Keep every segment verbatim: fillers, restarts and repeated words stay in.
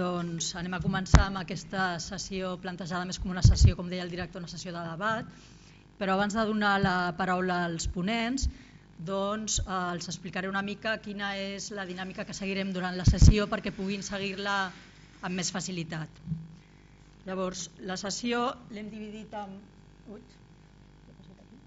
doncs anem a començar amb aquesta sessió plantejada més com una sessió, com deia el director, una sessió de debat, però abans de donar la paraula als ponents, doncs eh, els explicaré una mica quina és la dinàmica que seguirem durant la sessió perquè puguin seguir-la amb més facilitat. Llavors, la sessió l'hem dividit en... Ui, què ha passat aquí?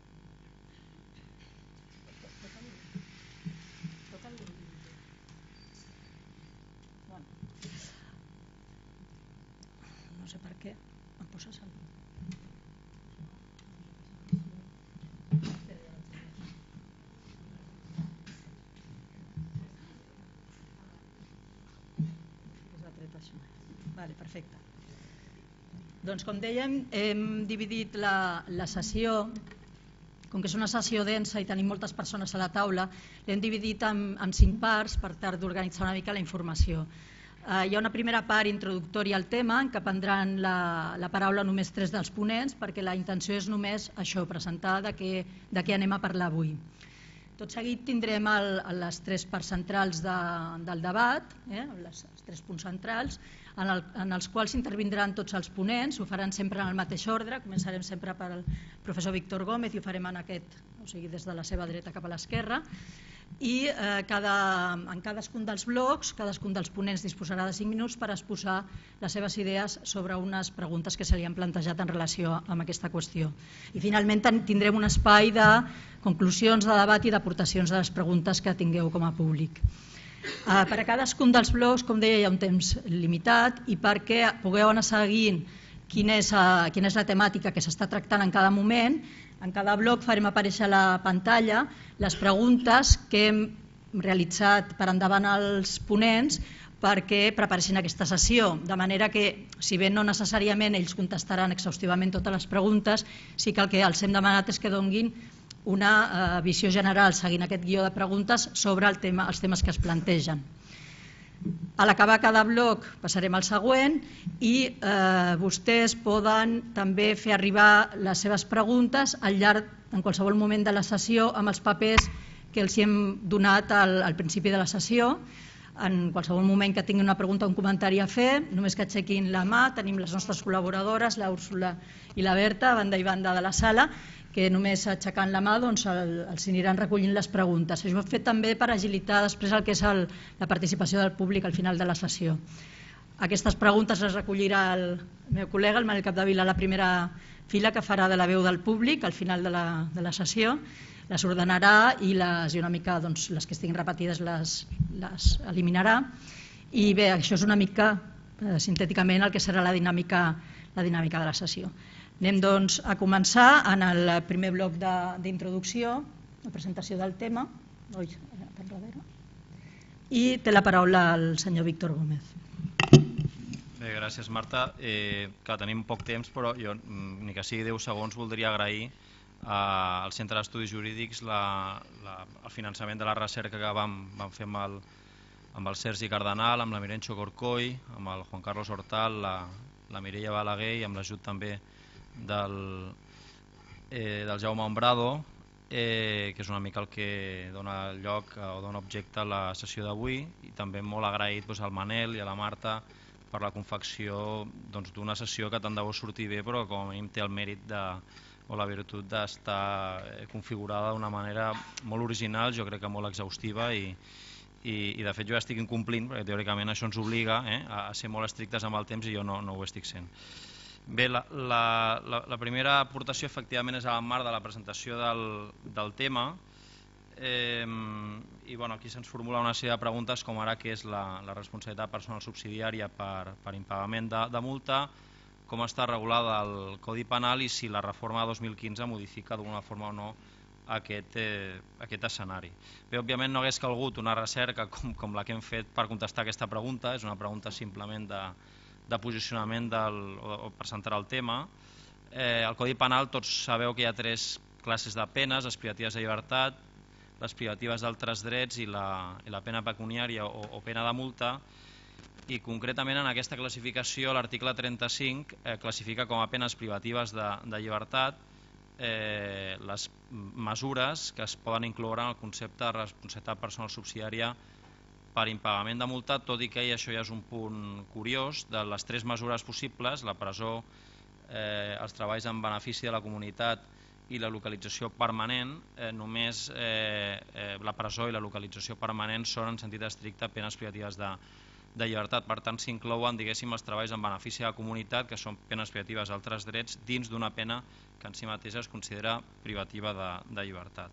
No sé per què em poses el... Vale, perfecte. Doncs com dèiem, hem dividit la, la sessió, com que és una sessió densa i tenim moltes persones a la taula, l'hem dividit en, en cinc parts per tal d'organitzar una mica la informació. Eh, hi ha una primera part introductòria al tema en què prendran la, la paraula només tres dels ponents perquè la intenció és només això, presentar de què, de què anem a parlar avui. Tot seguit tindrem el, les tres parts centrals de, del debat, eh, les, els tres punts centrals, en, el, en els quals intervindran tots els ponents, ho faran sempre en el mateix ordre, començarem sempre pel professor Víctor Gómez i ho farem en aquest, o sigui, des de la seva dreta cap a l'esquerra, i eh, cada, en cadascun dels blocs, cadascun dels ponents disposarà de cinc minuts per exposar les seves idees sobre unes preguntes que se li han plantejat en relació amb aquesta qüestió. I finalment tindrem un espai de conclusions de debat i d'aportacions de les preguntes que tingueu com a públic. Eh, per a cadascun dels blocs, com deia, hi ha un temps limitat i perquè pugueu anar seguint quina és, uh, quina és la temàtica que s'està tractant en cada moment, en cada bloc farem aparèixer a la pantalla les preguntes que hem realitzat per endavant als ponents perquè preparessin aquesta sessió, de manera que, si bé no necessàriament ells contestaran exhaustivament totes les preguntes, sí que el que els hem demanat és que donguin una eh, visió general, seguint aquest guió de preguntes, sobre el tema, els temes que es plantegen. A l'acabar cada bloc passarem al següent i eh, vostès poden també fer arribar les seves preguntes al llarg, en qualsevol moment de la sessió, amb els papers que els hem donat al, al principi de la sessió. En qualsevol moment que tinguin una pregunta o un comentari a fer, només que aixequin la mà, tenim les nostres col·laboradores, la Úrsula i la Berta, a banda i banda de la sala, que només aixecant la mà doncs, el, els aniran recollint les preguntes. Això ho hem fet també per agilitar després el que és el, la participació del públic al final de la sessió. Aquestes preguntes les recollirà el meu col·lega, el Manel Capdevila, a la primera fila, que farà de la veu del públic al final de la, de la sessió. Les ordenarà i, les, i una mica doncs, les que estiguin repetides les, les eliminarà. I bé, això és una mica, eh, sintèticament, el que serà la dinàmica, la dinàmica de la sessió. Anem doncs a començar en el primer bloc d'introducció, la presentació del tema. Ui, tan darrere. I té la paraula el senyor Víctor Gómez. Bé, gràcies, Marta. Eh, clar, tenim poc temps, però jo, ni que sigui deu segons, voldria agrair al Centre d'Estudis Jurídics la, la, el finançament de la recerca que vam, vam fer amb el, amb el Sergi Cardenal, amb la Mirencho Corcoy, amb el Juan Carlos Hortal, la, la Mireia Balaguer i amb l'ajut també del, eh, del Jaume Ombrado, eh, que és una mica el que dona lloc o dona objecte a la sessió d'avui, i també molt agraït doncs, al Manel i a la Marta per la confecció doncs, d'una sessió que tant de bo sortir bé, però com a mínim té el mèrit de, o la virtut d'estar configurada d'una manera molt original, jo crec que molt exhaustiva, i, i, i de fet jo ja estic incomplint, perquè teòricament això ens obliga eh, a ser molt estrictes amb el temps i jo no, no ho estic sent. Bé, la, la, la, la primera aportació efectivament és al marc de la presentació del, del tema, eh, i bueno, aquí se'ns formula una sèrie de preguntes com ara què és la, la responsabilitat personal subsidiària per, per impagament de, de multa, com està regulada el Codi Penal i si la reforma de dos mil quinze modifica d'alguna forma o no aquest, eh, aquest escenari. Bé, òbviament no hagués calgut una recerca com, com la que hem fet per contestar aquesta pregunta, és una pregunta simplement de de posicionament del, o per centrar el tema. Eh, el Codi Penal, tots sabeu que hi ha tres classes de penes, les privatives de llibertat, les privatives d'altres drets i la, i la pena pecuniària o, o pena de multa, i concretament en aquesta classificació l'article trenta-cinc eh, classifica com a penes privatives de, de llibertat eh, les mesures que es poden incloure en el concepte de responsabilitat personal subsidiària per impagament de multa, tot i que això ja és un punt curiós. De les tres mesures possibles, la presó, eh, els treballs en benefici de la comunitat i la localització permanent, eh, només eh, eh, la presó i la localització permanent són en sentit estricte penes privatives de, de llibertat. Per tant, s'inclouen, diguéssim, els treballs en benefici de la comunitat, que són penes privatives d'altres drets, dins d'una pena que en si mateixa es considera privativa de, de llibertat.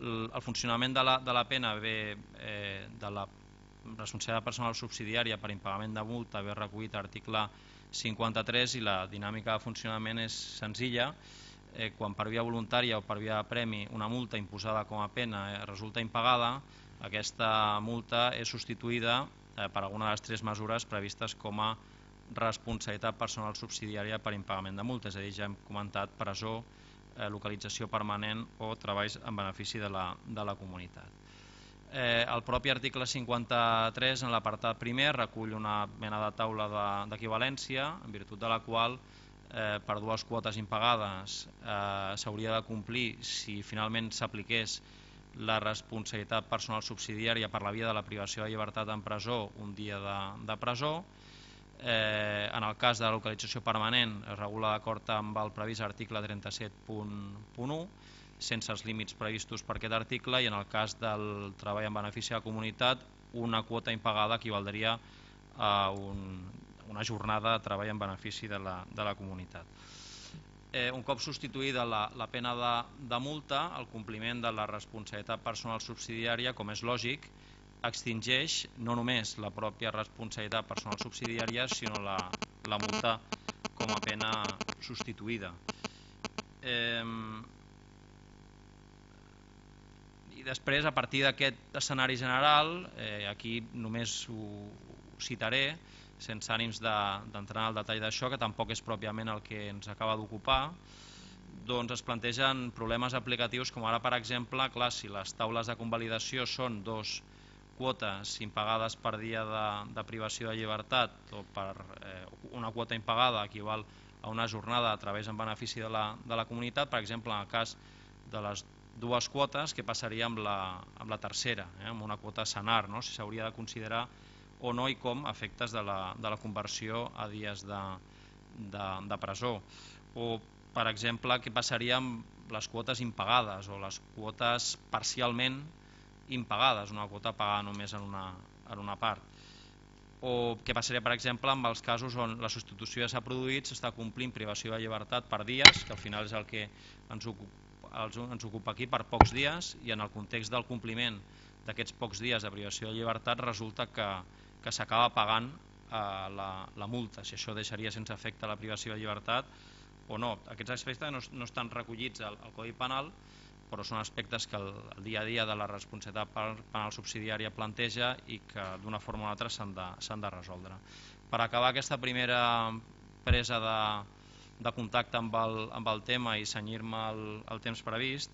El, el funcionament de la, de la pena ve eh, de la responsabilitat personal subsidiària per impagament de multa, ve recollit a l'article cinquanta-tres, i la dinàmica de funcionament és senzilla. Eh, quan per via voluntària o per via de premi una multa imposada com a pena eh, resulta impagada, aquesta multa és substituïda eh, per alguna de les tres mesures previstes com a responsabilitat personal subsidiària per impagament de multa, és a dir, ja hem comentat presó, eh, localització permanent o treballs en benefici de la, de la comunitat. Eh, el propi article cinquanta-tres, en l'apartat primer, recull una mena de taula d'equivalència, en virtut de la qual eh, per dues quotes impagades eh, s'hauria de complir, si finalment s'apliqués la responsabilitat personal subsidiària per la via de la privació de llibertat en presó, un dia de, de presó. Eh, en el cas de la localització permanent es regula d'acord amb el previst article trenta-set punt u, sense els límits previstos per aquest article, i en el cas del treball en benefici de la comunitat, una quota impagada equivaldria a un, una jornada de treball en benefici de la, de la comunitat. Eh, un cop substituïda la, la pena de, de multa, el compliment de la responsabilitat personal subsidiària, com és lògic, extingeix no només la pròpia responsabilitat personal subsidiària, sinó la, la multa com a pena substituïda. Eh, I després, a partir d'aquest escenari general, eh, aquí només ho, ho citaré, sense ànims d'entrar en el detall d'això, que tampoc és pròpiament el que ens acaba d'ocupar, doncs es plantegen problemes aplicatius, com ara, per exemple, clar, si les taules de convalidació són dos quotes impagades per dia de, de privació de llibertat, o per eh, una quota impagada equival a una jornada de treballs en benefici de la, de la comunitat, per exemple, en el cas de les dues quotes, què passaria amb la, amb la tercera, eh, amb una quota senar, no? Si s'hauria de considerar o no, i com efectes de la, de la conversió a dies de, de, de presó. O, per exemple, què passaria amb les quotes impagades o les quotes parcialment impagades, una quota pagada només en una, en una part. O què passaria, per exemple, amb els casos on la substitució ja s'ha produït, s'està complint privació de llibertat per dies, que al final és el que ens ocupa ens ocupa aquí, per pocs dies, i en el context del compliment d'aquests pocs dies de privació de llibertat resulta que, que s'acaba pagant eh, la, la multa, si això deixaria sense efecte la privació de llibertat o no. Aquests aspectes no, no estan recollits al, al Codi Penal, però són aspectes que el, el dia a dia de la responsabilitat penal subsidiària planteja i que d'una forma o altra s'han de, s'han de resoldre. Per acabar aquesta primera presa de de contacte amb el, amb el tema i cenyir-me el, el temps previst,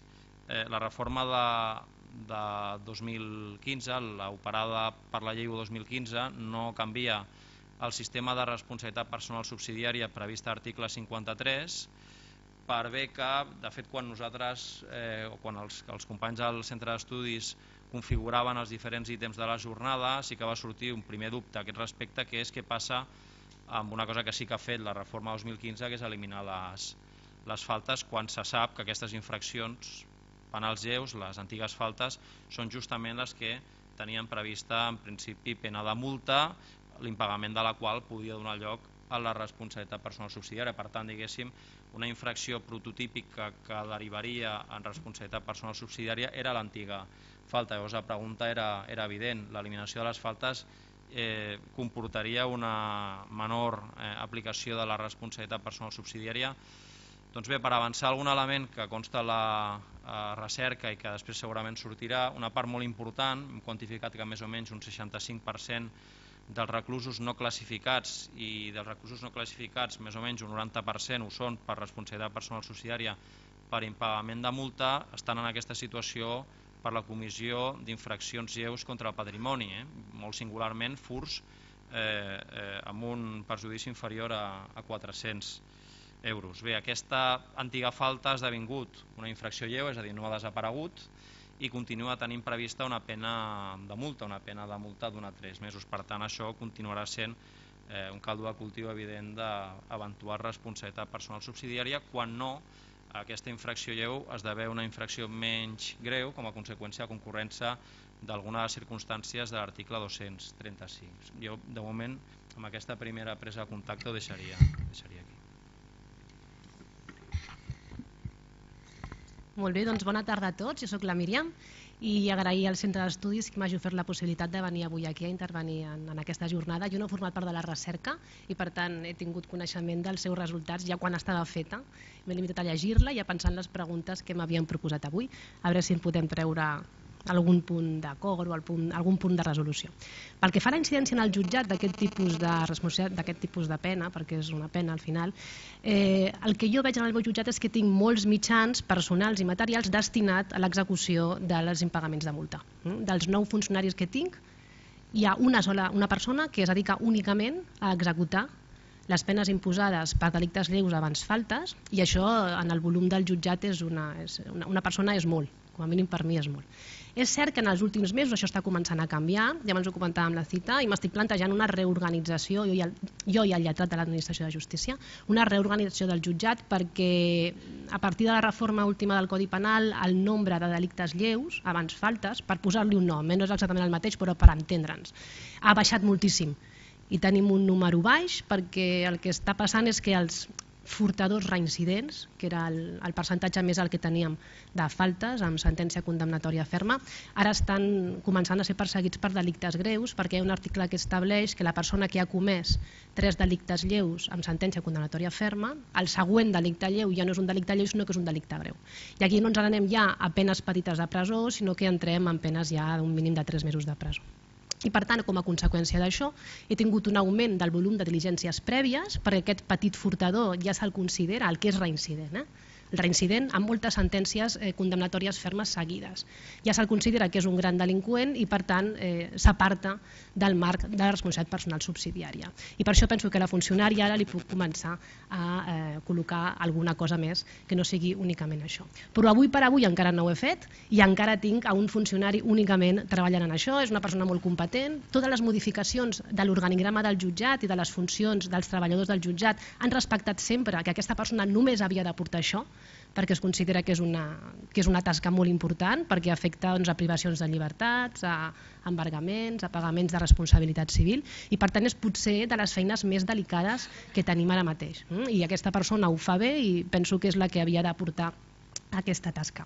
eh, la reforma de, de dos mil quinze, l'operada per la llei u dos mil quinze, no canvia el sistema de responsabilitat personal subsidiària previst a l'article cinquanta-tres, per bé que, de fet, quan nosaltres, eh, o quan els, els companys del centre d'estudis configuraven els diferents ítems de la jornada, sí que va sortir un primer dubte a aquest respecte, que és què passa amb una cosa que sí que ha fet la reforma dos mil quinze, que és eliminar les, les faltes, quan se sap que aquestes infraccions penals lleus, les antigues faltes, són justament les que tenien prevista en principi pena de multa, l'impagament de la qual podia donar lloc a la responsabilitat personal subsidiària. Per tant, diguéssim, una infracció prototípica que derivaria en responsabilitat personal subsidiària era l'antiga falta. Llavors la pregunta era, era evident, l'eliminació de les faltes Eh, comportaria una menor eh, aplicació de la responsabilitat personal subsidiària. Doncs bé, per avançar algun element que consta a la a recerca i que després segurament sortirà, una part molt important, hem quantificat que més o menys un seixanta-cinc per cent dels reclusos no classificats, i dels reclusos no classificats més o menys un noranta per cent ho són per responsabilitat personal subsidiària per impagament de multa, estan en aquesta situació per la comissió d'infraccions lleus contra el patrimoni, eh? molt singularment furts eh, eh, amb un perjudici inferior a, a quatre-cents euros. Bé, aquesta antiga falta ha esdevingut una infracció lleu, és a dir, no ha desaparegut, i continua tenint prevista una pena de multa, una pena de multa d'una a tres mesos. Per tant, això continuarà sent eh, un caldo de cultiu evident d'eventual responsabilitat personal subsidiària, quan no aquesta infracció lleu esdevé una infracció menys greu com a conseqüència de concurrència d'alguna de les circumstàncies de l'article dos-cents trenta-cinc. Jo, de moment, amb aquesta primera presa de contacte ho deixaria, deixaria aquí. Molt bé, doncs bona tarda a tots. Jo soc la Míriam i agrair al Centre d'Estudis que m'hagi ofert la possibilitat de venir avui aquí a intervenir en, en aquesta jornada. Jo no he format part de la recerca i per tant he tingut coneixement dels seus resultats ja quan estava feta. M'he limitat a llegir-la i a pensar en les preguntes que m'havien proposat avui, a veure si en podem treure algun punt d'acord o punt, algun punt de resolució. Pel que fa a la incidència en el jutjat d'aquest tipus de responsabilitat, d'aquest tipus de pena, perquè és una pena al final, eh, el que jo veig en el meu jutjat és que tinc molts mitjans personals i materials destinats a l'execució dels impagaments de multa. Dels nou funcionaris que tinc, hi ha una sola una persona que es dedica únicament a executar les penes imposades per delictes lleus abans faltes, i això en el volum del jutjat és una, és una, una persona és molt, com a mínim per mi és molt. És cert que en els últims mesos això està començant a canviar, ja abans ho comentàvem la cita, i m'estic plantejant una reorganització, jo i el, jo i el lletrat de l'Administració de Justícia, una reorganització del jutjat perquè a partir de la reforma última del Codi Penal el nombre de delictes lleus, abans faltes, per posar-li un nom, no és exactament el mateix però per entendre'ns, ha baixat moltíssim i tenim un número baix perquè el que està passant és que els furtadors reincidents, que era el, el percentatge més alt que teníem de faltes amb sentència condemnatòria ferma, ara estan començant a ser perseguits per delictes greus perquè hi ha un article que estableix que la persona que ha comès tres delictes lleus amb sentència condemnatòria ferma, el següent delicte lleu ja no és un delicte lleu sinó que és un delicte greu. I aquí no ens n'anem ja a penes petites de presó, sinó que entrem en penes ja d'un mínim de tres mesos de presó. I per tant, com a conseqüència d'això, he tingut un augment del volum de diligències prèvies perquè aquest petit furtador ja se'l considera el que és reincident. Eh? El reincident amb moltes sentències eh, condemnatòries fermes seguides. Ja se'l considera que és un gran delinqüent i per tant eh, s'aparta del marc de la responsabilitat personal subsidiària. I per això penso que a la funcionària ara li puc començar a eh, col·locar alguna cosa més que no sigui únicament això. Però avui per avui encara no ho he fet i encara tinc a un funcionari únicament treballant en això, és una persona molt competent. Totes les modificacions de l'organigrama del jutjat i de les funcions dels treballadors del jutjat han respectat sempre que aquesta persona només havia de portar això, perquè es considera que és una, que és una tasca molt important, perquè afecta doncs, a privacions de llibertats, a embargaments, a pagaments de responsabilitat civil, i per tant és potser de les feines més delicades que tenim ara mateix. I aquesta persona ho fa bé i penso que és la que havia d'aportar aquesta tasca.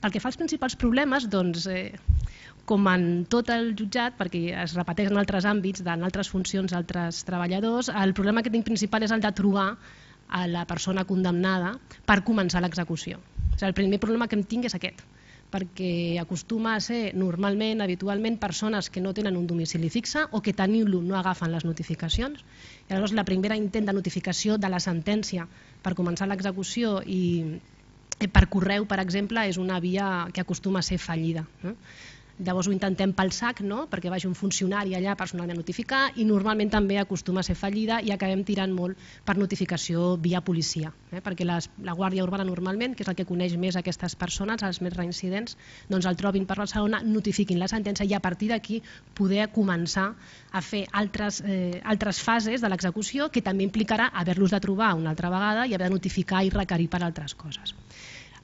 Pel que fa als principals problemes, doncs, eh, com en tot el jutjat, perquè es repeteix en altres àmbits, en altres funcions, altres treballadors, el problema que tinc principal és el de trobar a la persona condemnada per començar l'execució. O sigui, el primer problema que em tinc és aquest, perquè acostuma a ser normalment, habitualment, persones que no tenen un domicili fixe o que tenint-lo no agafen les notificacions. I llavors la primera intent de notificació de la sentència per començar l'execució i per correu, per exemple, és una via que acostuma a ser fallida. Llavors ho intentem pel sac, no? Perquè vagi un funcionari allà personalment a notificar i normalment també acostuma a ser fallida i acabem tirant molt per notificació via policia, eh? Perquè les, la Guàrdia Urbana normalment, que és el que coneix més aquestes persones, els més reincidents, doncs el trobin per Barcelona, notifiquin la sentència i a partir d'aquí poder començar a fer altres, eh, altres fases de l'execució que també implicarà haver-los de trobar una altra vegada i haver de notificar i requerir per altres coses.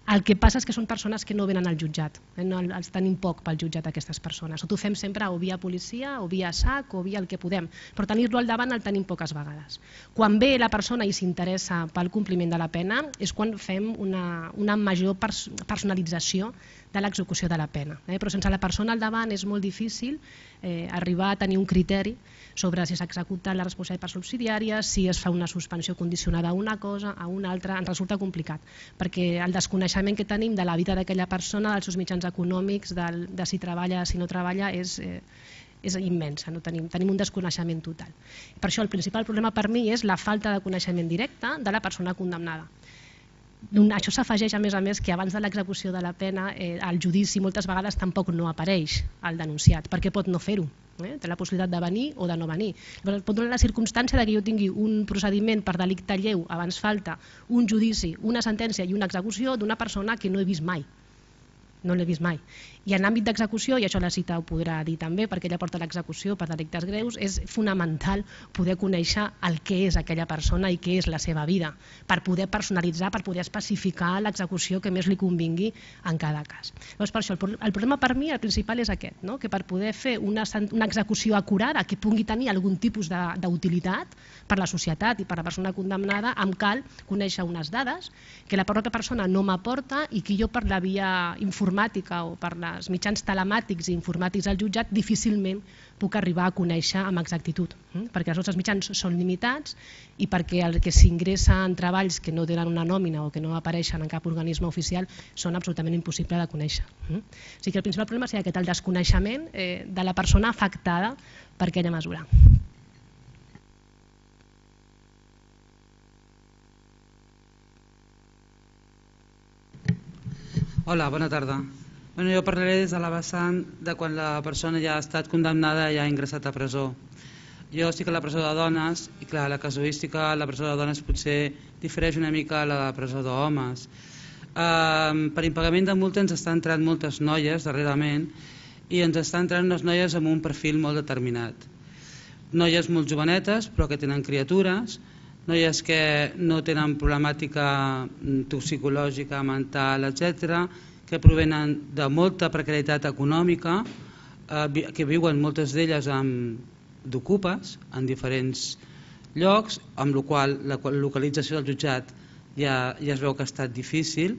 El que passa és que són persones que no venen al jutjat, eh? No, els tenim poc pel jutjat aquestes persones, o ho fem sempre o via policia o via sac o via el que podem, però tenir-lo al davant el tenim poques vegades. Quan ve la persona i s'interessa pel compliment de la pena és quan fem una, una major pers personalització de l'execució de la pena, eh? Però sense la persona al davant és molt difícil eh, arribar a tenir un criteri sobre si s'executa la responsabilitat subsidiària, si es fa una suspensió condicionada a una cosa, a una altra, ens resulta complicat, perquè el desconeixement que tenim de la vida d'aquella persona, dels seus mitjans econòmics, del, de si treballa, si no treballa, és, eh, és immensa, no? tenim, tenim un desconeixement total. Per això el principal problema per mi és la falta de coneixement directe de la persona condemnada. Això s'afegeix a més a més que abans de l'execució de la pena eh, el judici moltes vegades tampoc no apareix al denunciat perquè pot no fer-ho, eh? Té la possibilitat de venir o de no venir. Llavors, pot donar la circumstància que jo tingui un procediment per delicte lleu abans falta, un judici, una sentència i una execució d'una persona que no he vist mai. no l'he vist mai. I en l'àmbit d'execució, i això la Cita ho podrà dir també, perquè ella porta l'execució per delictes greus, és fonamental poder conèixer el que és aquella persona i què és la seva vida, per poder personalitzar, per poder especificar l'execució que més li convingui en cada cas. Llavors, per això, el problema per mi, el principal és aquest, no? Que per poder fer una, una execució acurada que pugui tenir algun tipus d'utilitat per la societat i per la persona condemnada, em cal conèixer unes dades que la pròpia persona no m'aporta i que jo per la via informàtica o per els mitjans telemàtics i informàtics al jutjat difícilment puc arribar a conèixer amb exactitud, perquè els nostres mitjans són limitats i perquè el que s'ingressa en treballs que no tenen una nòmina o que no apareixen en cap organisme oficial són absolutament impossibles de conèixer. O sigui que el principal problema seria aquest, el desconeixement de la persona afectada per aquella mesura. Hola, bona tarda. Bueno, jo parlaré des de la vessant de quan la persona ja ha estat condemnada i ha ingressat a presó. Jo estic a la presó de dones i clar, la casuística a la presó de dones potser difereix una mica a la presó d'homes. Uh, per impagament de multa ens estan entrant moltes noies darrerament i ens estan entrant unes noies amb un perfil molt determinat. Noies molt jovenetes però que tenen criatures, noies que no tenen problemàtica toxicològica, mental, etcètera, que provenen de molta precarietat econòmica, eh, que viuen moltes d'elles d'ocupes en diferents llocs, amb la qual la localització del jutjat ja, ja es veu que ha estat difícil,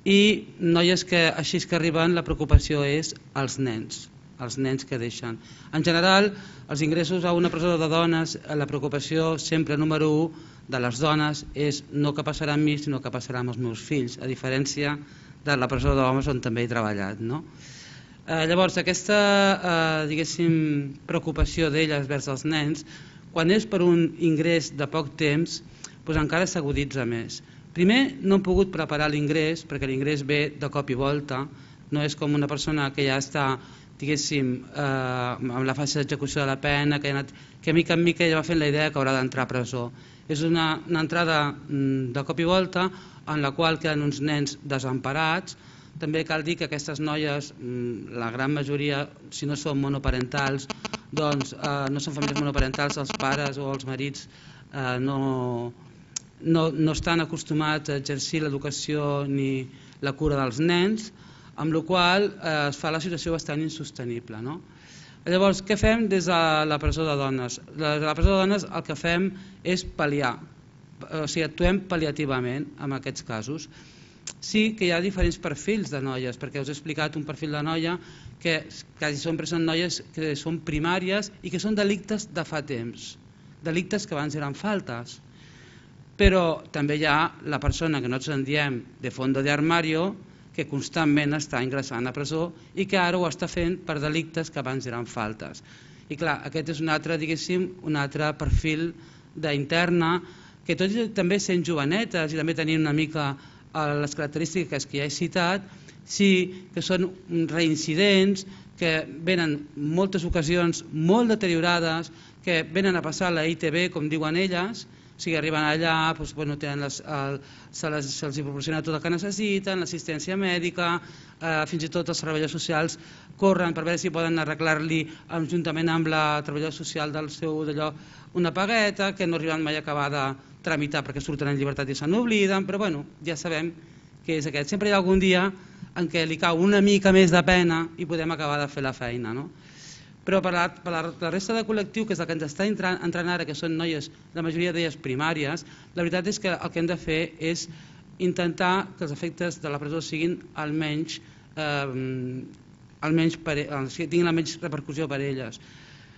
i noies que així que arriben la preocupació és els nens, els nens que deixen. En general, els ingressos a una presó de dones, la preocupació sempre número u de les dones és no què passarà amb mi, sinó què passarà amb els meus fills, a diferència de la presó d'homes on també he treballat. No? Eh, llavors, aquesta eh, diguéssim, preocupació d'elles vers els nens, quan és per un ingrés de poc temps, doncs encara s'aguditza més. Primer, no hem pogut preparar l'ingrés, perquè l'ingrés ve de cop i volta, no és com una persona que ja està diguéssim, eh, amb la fase d'execució de la pena, que, ha anat, que mica en mica ja va fent la idea que haurà d'entrar a presó. És una, una entrada mm, de cop i volta en la qual queden uns nens desemparats. També cal dir que aquestes noies, mm, la gran majoria, si no són monoparentals, doncs eh, no són famílies monoparentals, els pares o els marits eh, no, no, no estan acostumats a exercir l'educació ni la cura dels nens, amb la qual eh, es fa la situació bastant insostenible. No? Llavors, què fem des de la presó de dones? Des de la presó de dones el que fem és pal·liar, o sigui, actuem pal·liativament en aquests casos. Sí que hi ha diferents perfils de noies, perquè us he explicat un perfil de noia que quasi sempre són noies que són primàries i que són delictes de fa temps, delictes que abans eren faltes. Però també hi ha la persona que nosaltres en diem de fondo de armario, que constantment està ingressant a presó i que ara ho està fent per delictes que abans eren faltes. I clar, aquest és un altre, diguéssim, un altre perfil d'interna que tot i també sent jovenetes i també tenint una mica les característiques que ja he citat, sí que són reincidents, que venen moltes ocasions molt deteriorades, que venen a passar la I T B, com diuen elles, o sigui, arriben allà, doncs, bueno, tenen les, el, se les, se'ls proporciona tot el que necessiten, l'assistència mèdica, eh, fins i tot els treballadors socials corren per veure si poden arreglar-li juntament amb la treballadora social del seu d'allò una pagueta, que no arriben mai a acabar de tramitar perquè surten en llibertat i se n'obliden, però bueno, ja sabem que és aquest. Sempre hi ha algun dia en què li cau una mica més de pena i podem acabar de fer la feina. No? Però per la, per la resta de col·lectiu, que és el que ens està entrant, entrant ara, que són noies, la majoria d'elles primàries, la veritat és que el que hem de fer és intentar que els efectes de la presó siguin almenys, eh, almenys per, que tinguin la menys repercussió per elles.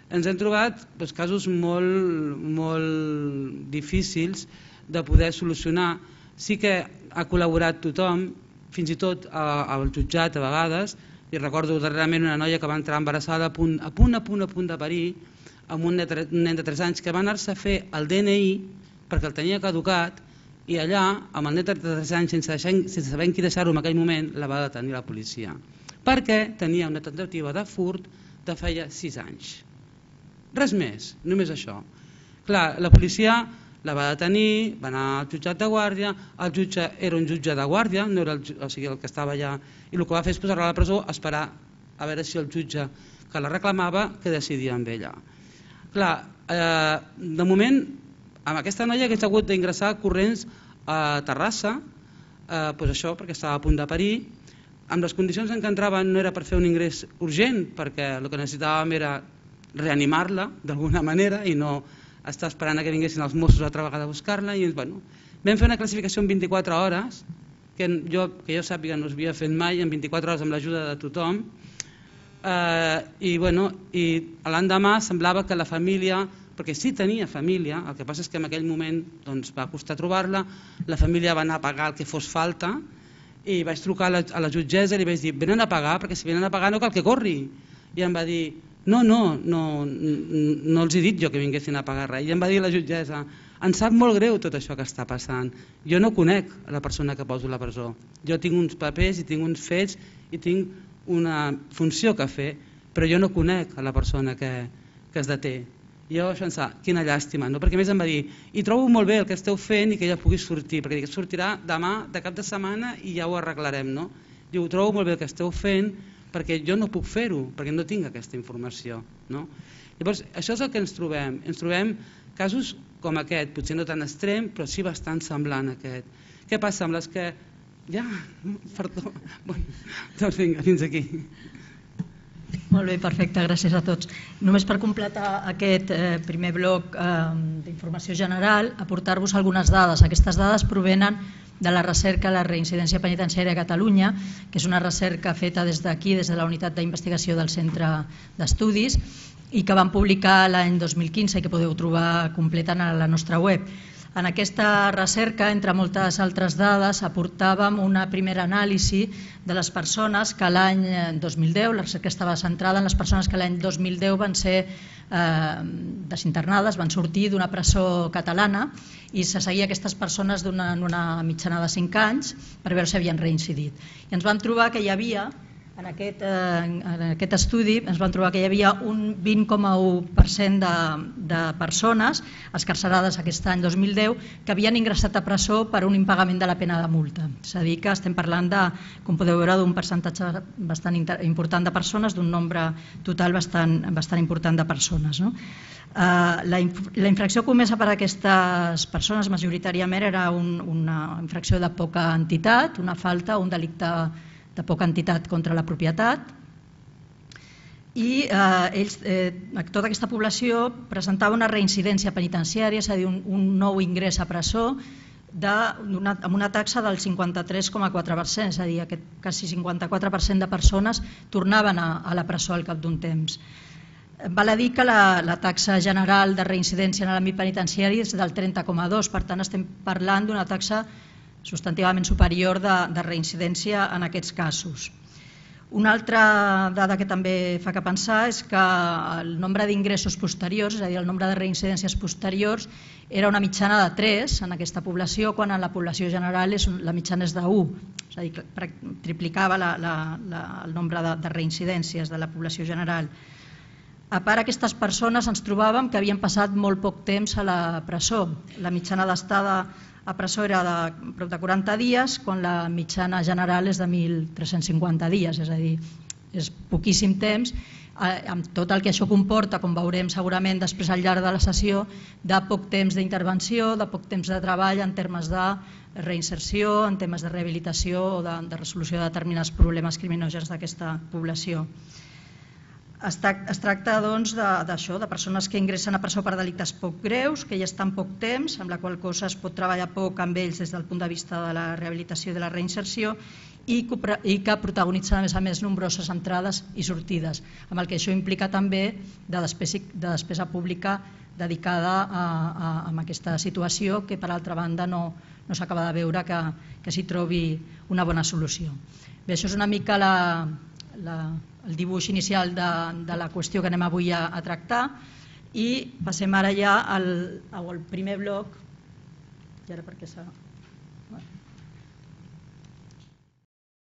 Ens hem trobat doncs, casos molt, molt difícils de poder solucionar. Sí que ha col·laborat tothom, fins i tot al jutjat a vegades, i recordo darrerament una noia que va entrar embarassada a punt a punt, a punt, a punt de parir, amb un nen de tres anys que va anar-se a fer el D N I perquè el tenia caducat, i allà, amb el nen de tres anys, sense, deixar, sense saber en qui deixar-ho en aquell moment, la va detenir la policia. Perquè tenia una tentativa de furt de feia sis anys. Res més, només això. Clar, la policia la va detenir, va anar al jutjat de guàrdia, el jutge era un jutge de guàrdia, no era el, o sigui, el que estava allà, i el que va fer és posar-la a la presó, esperar a veure si el jutge que la reclamava que decidia amb ella. Clar, eh, de moment, amb aquesta noia que ha hagut d'ingressar corrents a Terrassa, eh, pues això perquè estava a punt de parir, amb les condicions en què entraven no era per fer un ingrés urgent, perquè el que necessitàvem era reanimar-la d'alguna manera i no estar esperant que vinguessin els Mossos altra vegada a buscar-la. I bueno, vam fer una classificació en vint-i-quatre hores, que jo, que jo sàpiga no s'havia fet mai, en vint-i-quatre hores amb l'ajuda de tothom, eh, i, bueno, i l'endemà semblava que la família, perquè sí tenia família, el que passa és que en aquell moment doncs, va costar trobar-la, la família va anar a pagar el que fos falta, i vaig trucar a la, a la jutgessa i li vaig dir, venen a pagar, perquè si venen a pagar no cal que corri. I em va dir, no, no, no, no els he dit jo que vinguessin a pagar res. I em va dir la jutgessa, em sap molt greu tot això que està passant. Jo no conec la persona que poso a la presó. Jo tinc uns papers i tinc uns fets i tinc una funció que fer, però jo no conec a la persona que, que es deté. I jo vaig pensar, quina llàstima, no? Perquè a més em va dir, i trobo molt bé el que esteu fent i que ella pugui sortir, perquè dic, sortirà demà de cap de setmana i ja ho arreglarem, no? Diu, ho trobo molt bé el que esteu fent perquè jo no puc fer-ho, perquè no tinc aquesta informació, no? Llavors, això és el que ens trobem, ens trobem casos com aquest, potser no tan extrem, però sí bastant semblant a aquest. Què passa amb les que... Ja, perdó, bueno, doncs vinga, fins aquí. Molt bé, perfecte, gràcies a tots. Només per completar aquest eh, primer bloc eh, d'informació general, aportar-vos algunes dades. Aquestes dades provenen de la recerca a la reincidència penitenciària a Catalunya, que és una recerca feta des d'aquí, des de la unitat d'investigació del Centre d'Estudis, i que vam publicar l'any dos mil quinze i que podeu trobar completa a la nostra web. En aquesta recerca, entre moltes altres dades, aportàvem una primera anàlisi de les persones que l'any dos mil deu, la recerca estava centrada en les persones que l'any dos mil deu van ser eh, desinternades, van sortir d'una presó catalana i se seguia aquestes persones d'una una mitjana de cinc anys per veure si havien reincidit. I ens vam trobar que hi havia, en aquest, eh, en aquest estudi, ens vam trobar que hi havia un vint coma u per cent de, de persones excarcerades aquest any dos mil deu que havien ingressat a presó per un impagament de la pena de multa. És a dir, que estem parlant de, com podeu veure, d'un percentatge bastant important de persones, d'un nombre total bastant, bastant important de persones, no? Uh, la, inf la infracció comesa per a aquestes persones majoritàriament era un, una infracció de poca entitat, una falta, un delicte de poca entitat contra la propietat, i eh, ells, eh, tota aquesta població presentava una reincidència penitenciària, és a dir, un, un nou ingrés a presó de, una, amb una taxa del cinquanta-tres coma quatre per cent, és a dir, aquest quasi cinquanta-quatre per cent de persones tornaven a, a la presó al cap d'un temps. Val a dir que la, la taxa general de reincidència en l'àmbit penitenciari és del trenta coma dos, per tant estem parlant d'una taxa substantivament superior de, de reincidència en aquests casos. Una altra dada que també fa que pensar és que el nombre d'ingressos posteriors, és a dir, el nombre de reincidències posteriors, era una mitjana de tres en aquesta població, quan en la població general és, la mitjana és d'u, és a dir, triplicava la, la, la, el nombre de, de reincidències de la població general. A part, aquestes persones ens trobàvem que havien passat molt poc temps a la presó. La mitjana d'estada a presó era de prop de quaranta dies, quan la mitjana general és de mil tres-cents cinquanta dies, és a dir, és poquíssim temps, amb tot el que això comporta, com veurem segurament després al llarg de la sessió, de poc temps d'intervenció, de poc temps de treball en termes de reinserció, en temes de rehabilitació o de, de resolució de determinats problemes criminògens d'aquesta població. Es tracta doncs, d'això, de, de persones que ingressen a presó per delictes poc greus, que ja estan poc temps, amb la qual cosa es pot treballar poc amb ells des del punt de vista de la rehabilitació i de la reinserció, i que, i que protagonitzen a més a més nombroses entrades i sortides, amb el que això implica també de despesa, de despesa pública dedicada a, a, a aquesta situació, que per altra banda no, no s'acaba de veure que, que s'hi trobi una bona solució. Bé, això és una mica la... la el dibuix inicial de, de la qüestió que anem avui a, a tractar, i passem ara ja al, al primer bloc, i ara perquè s'ha...